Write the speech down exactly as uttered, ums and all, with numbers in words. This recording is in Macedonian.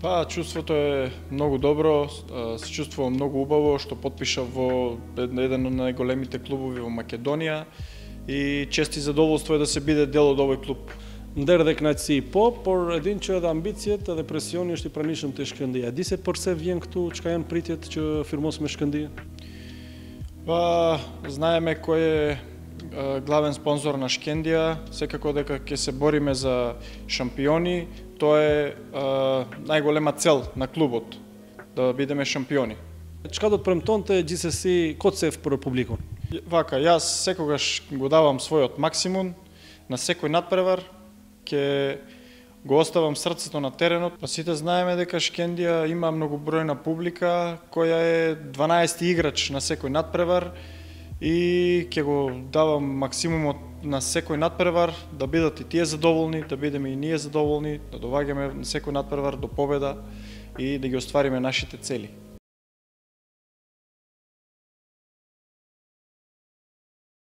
Па, чувството е многу добро, се чувствувам многу убаво што потпишав во еден од најголемите клубови во Македонија и чест и задоволство е да се биде дел од овој клуб. Nderdhek kënaqësi po, por e din që edhe ambicjet edhe presioni është i pranishëm te Shkëndija. Di se përse vjen këtu, çka janë pritjet që firmos me Shkëndija? Па, знаеме кој е главен спонзор на Шкендија, секако дека ќе се бориме за шампиони, тоа е најголема цел на клубот, да бидеме шампиони. Çka do të premtonte gjithsesi Kocev për publikun? Вака, јас секогаш го давам својот максимум на секој надпревар, ќе го оставам срцето на теренот. Па сите знаеме дека Шкендија има многобројна публика, која е дванаести играч на секој надпревар и ќе го давам максимумот на секој надпревар, да бидат и тие задоволни, да бидеме и ние задоволни, да доваѓаме на секој надпревар до победа и да ги оствариме нашите цели.